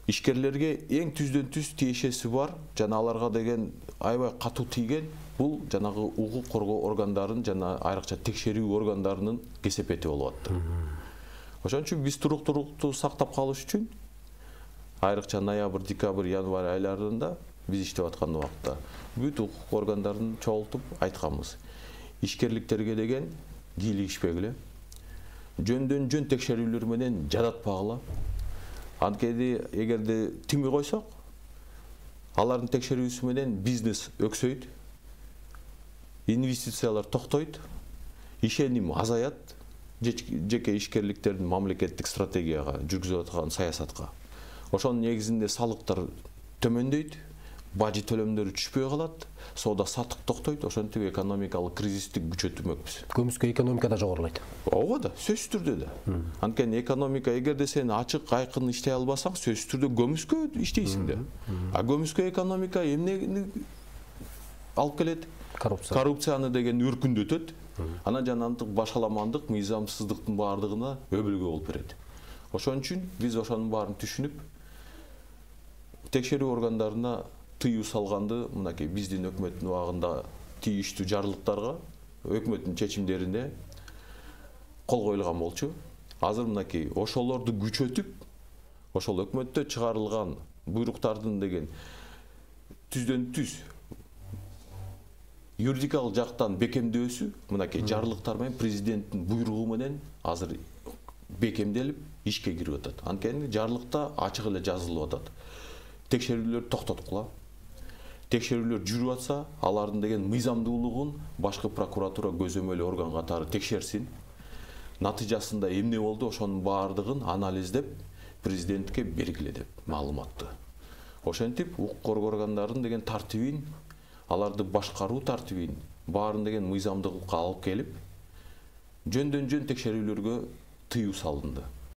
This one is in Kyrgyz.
ишкерлерге эң түздөн түз тиешеси бар, жана аларга деген аябай катуу тийген бул жанагы укук коргоо органдарын жана айрыкча текшерүү органдарынын кесепети болуп атты. Ошон үчүн биз туруктуулукту сактап калыш үчүн айрыкча ноябрь, декабрь, январь айларында биз иштеп аткан убакта бүт укук органдарын чогултуп айтканбыз. Ишкерликтерге деген кийлигишпегиле, жөндөн жөн текшерүүлөр менен жадатпагыла. Анткени эгерде тими койсок, алардын текшерүүсү менен бизнес өксөйт, инвестициялар токтойт, ишеним азаят жеке ишкерликтердин мамлекеттик стратегияга жүргүзүп аткан саясатка. Ошонун негизинде салыктар төмөндөйт, бажы төлөмдөрү түшпөй калат, соода саттык токтойт, ошентип экономикалык кризисти күчөтмөкпүз. Көмүскө экономика да жогорулайт. Ооба да, сөзсүз түрдө да. Анткени экономика эгерде сен ачык айкын иштей албасаң, сөзсүз түрдө көмүскө иштейсиң да. А көмүскө экономика эмнени алып келет? Коррупцияны деген өркүндөтөт. Анан жанагы башаламандык, мыйзамсыздыктын баардыгына өбөлгө болуп берет. Ошон үчүн биз ошонун баарын түшүнүп, текшерүү органдарына тыюу салганды мынакей биздин өкмөттүн убагында тийиштүү жарлыктарга өкмөттүн чечимдерине кол коюлган болчу. Азыр мынакей ошолорду күчөтүп, ошол өкмөттө чыгарылган буйруктардын деген түздөн түз юридикалык жактан бекемдөөсү мынакей жарлыктар менен президенттин буйругу менен азыр бекемделип ишке кирип атат. Анткени жарлыкта ачык эле жазылып атат. Текшерүүлөр токтоткула. Текшерүүлөр жүрүп атса, алардын деген мыйзамдуулугун башкы прокуратура көзөмөл орган катары текшерсин. Натыйжасында эмне болду, ошонун баардыгын анализдеп президентке бергиле деп маалыматты. Ошентип укук коргоо органдарынын деген тартибин, аларды башкаруу тартибин баарын деген мыйзамдуулукка алып келип, жөндөн жөн текшерүүлөргө тыюу салынды.